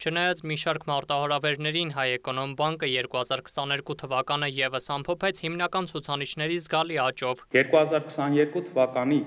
Չնայած մի շարք մարտահրավերներին Հայ Էկոնոմ բանկը 2022 թվականը ևս ամփոփեց հիմնական ցուցանիշների զգալի աճով։ 2022 թվականի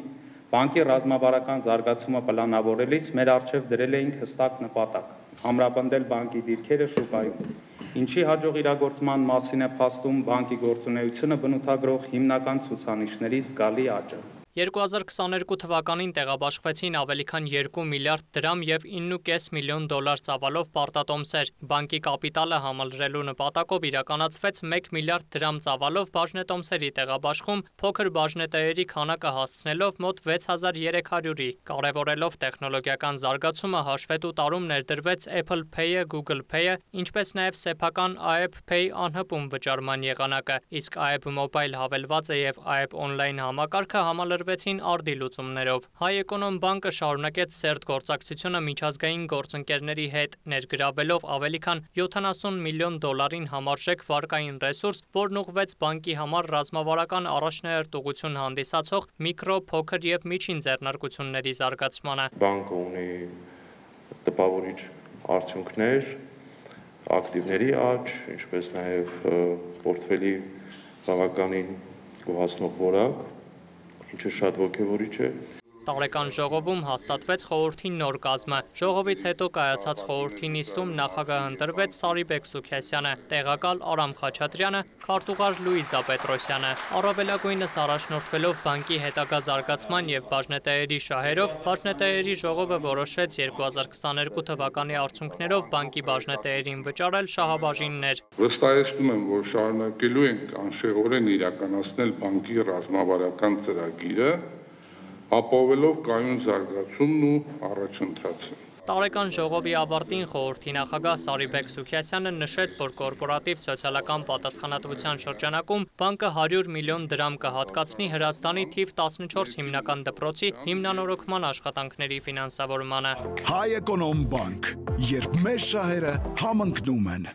բանկի ռազմավարական զարգացումը պլանավորելիս մեր առջև դրել էինք հստակ նպատակ՝ ամրապնդել բանկի դիրքերը շուկայում, ինչի հաջող իրագործման մասին է փաստում բանկի գործունեությունը բնութագրող հիմնական ցուցանիշների զգալի աճը։ 2022 թվականին տեղաբաշխվեցին ավելի քան 2 միլիարդ դրամ և 9,5 միլիոն դոլար ծավալով պարտատոմսեր։ Բանկի կապիտալը համալրելու նպատակով իրականացվեց 1 միլիարդ դրամ ծավալով բաժնետոմսերի տեղաբաշխում, փոքր բաժնետերերի քանակը հասցնելով մոտ 6300-ի։ Կարևորելով տեխնոլոգիական զարգացումը, հաշվետու տարում ներդրվեց Apple Pay-ը, Google Pay-ը, ինչպես նաև սեփական AEP Pay անհպում վճարման եղանակը, իսկ AEP Mobile հավելվածը և AEP Online համակարգը համալրվեցին արդի լուծումներով։ Հայ Էկոնոմ բանկը շարունակեց սերտ գործակցությունը միջազգային գործընկերների հետ, ներգրավելով ավելի քան 70 միլիոն դոլարին համարժեք վարկային ռեսուրս, որն ուղղվեց բանկի համար ռազմավարական առաջնահերթուղություն հանդիսացող միկրո, փոքր և միջին ձեռնարկությունների զարգացմանը։ Բանկը ունի տպավորիչ արդյունքներ, ակտիվների աճ, ինչպես նաև պորտֆելի բավականին գոհացնող որակ, ինչը շատ ոգևորիչ է։ Տարեկան ժողովում հաստատվեց խորհրդի նոր կազմը։ Ժողովից հետո կայացած խորհրդի նիստում նախագահ ընտրվեց Սարիբեկ Սուքիասյանը, տեղակալ Արամ Խաչատրյանը, քարտուղար Լուիզա Պետրոսյանը։ Առավելագույնս առաջնորդվելով բանկի հետագա զարգացման և բաժնետերերի շահերով, բաժնետերերի ժողովը որոշեց 2022 թվականի արդյունքներով բանկի բաժնետերերին վճարել շահաբաժիններ։ Վստահեցնում եմ, որ շարունակելու ենք անշեղորեն իրականացնել բանկի ռազմավարական ծրագիրը, ապահովելով կայուն զարգացումն ու առաջընթացը։ Տարեկան ժողովի ավարտին խորհրդի նախագահ Սարիբեկ Սուքիասյանը նշեց, որ կորպորատիվ սոցիալական պատասխանատվության շրջանակում բանկը 100 միլիոն դրամ կհատկացնի Հրազդանի թիվ 14 հիմնական դպրոցի հիմնանորոգման աշխատանքների ֆինանսավորմանը։ Հայ Էկոնոմ բանկ, երբ մեր շահերը համընկնում են։